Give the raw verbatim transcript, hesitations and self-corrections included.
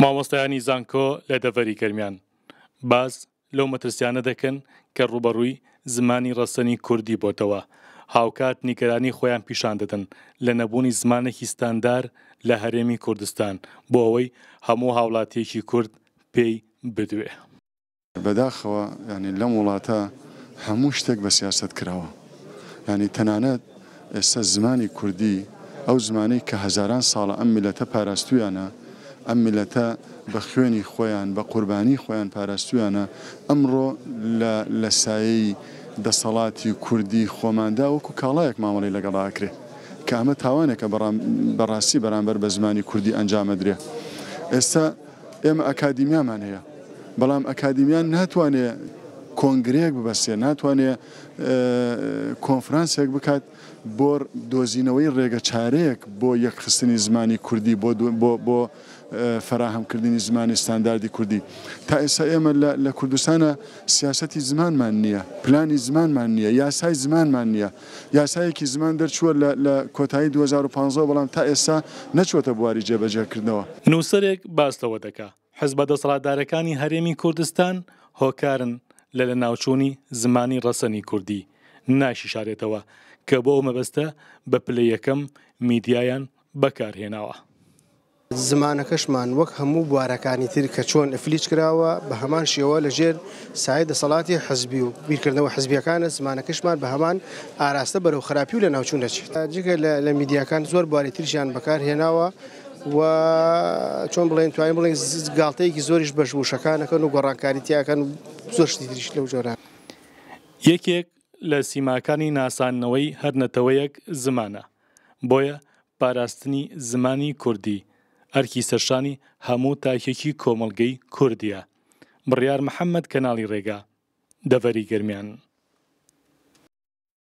مامۆستایانی زانکۆ لە دەڤەری گەرمیان باس لەو مەترسیانە دەکەن کە ڕووبەڕووی زمانی ڕەسەنی کوردی بۆتەوە، هاوکات نیگەرانی خۆیان پیشان دەدەن لە نەبوونی زمانێکی ستاندار لە هەرێمی کوردستان بۆ ئەوەی هەموو هاوڵاتیەکی کورد پێی بدوێ. بەداخەوە یانی لەم وڵاتە هەموو شتێک بە سیاسەت کراوە، یانی تەنانەت ئێستا زمانی کوردی ئەو زمانەی کە هەزاران ساڵە ئەم میللەتە پاراستوویانە، ئەم میللەتە بە خوێنی خۆیان بە قوربانی خۆیان پاراستوویانە، ئەمڕۆ لە لە سایەی دەسەڵاتی کوردی خۆماندا وەکو کاڵایەک مامەڵەی لەگەڵا ئەکرێ کە ئەمە تاوانێکە بەڕاستی بەرامبەر بە زمانی کوردی ئەنجام ئەدرێ. ئێستا ئێمە ئەکادیمیامان هەیە، بەڵام ئەکادیمیا ناتوانێ کۆنگرەیەک ببەستێ، ناتوانێ کۆنفرانسێک بکات بۆ دۆزینەوەی ڕێگە چارەیەک بۆ یەکخستنی زمانی کوردی، بۆ بۆ فەراهەمکردنی زمانی ستانداردی کوردی. تا ئێستا ئێمە لە کوردستانە سیاسەتی زمانمان نییە، پلانی زمانمان نییە، یاسای زمانمان نییە. یاسایەکی زمان دەرچووە لە کۆتایی دوو هەزار و پازدە بەڵام تا ئێستا نەچووەتە بواری جێبەجێکردنەوە. نووسەرێک باس لەوە دەکا حزبە دەسەڵاتدارەکانی هەرێمی کوردستان هۆکارن لە لەناوچوونی زمانی ڕەسەنی کوردی، ناشیشارێتەوە کە بۆ ئەو مەبەستە بە پلە یەکەم میدیایان بەکارهێناوە. زمانەکەشمان وەک هەموو بوارەکانی تر کە چۆن ئەفلیج کراوە بە هەمان شێوە لەژێر سایەی دەسەڵاتی حزبی و بیرکردنەوە حزبیەکانە زمانەکەشمان بە هەمان ئاراستە بەرەو خراپی و لە ناوچوون دەچێت. جگە لە میدیاکان زۆر بواری تریشیان بەکارهێناوە و چۆن بڵێن توانین بڵێن گاڵتەیەکی زۆریش بەش وشەکانەکەن و گۆڕانکاری تیاکەن و زۆر شتی تریش لەو جۆرە. یەکێک لە سیماکانی ناساندنەوەی هەر نەتەوەیەک زمانە، بۆیە پاراستنی زمانی کوردی ئەرکی سەرشانی هەموو تاکێکی کۆمەڵگەی کوردیە. بڕیار محەممەد، کەناڵی ڕێگا، دەڤەری گەرمیان.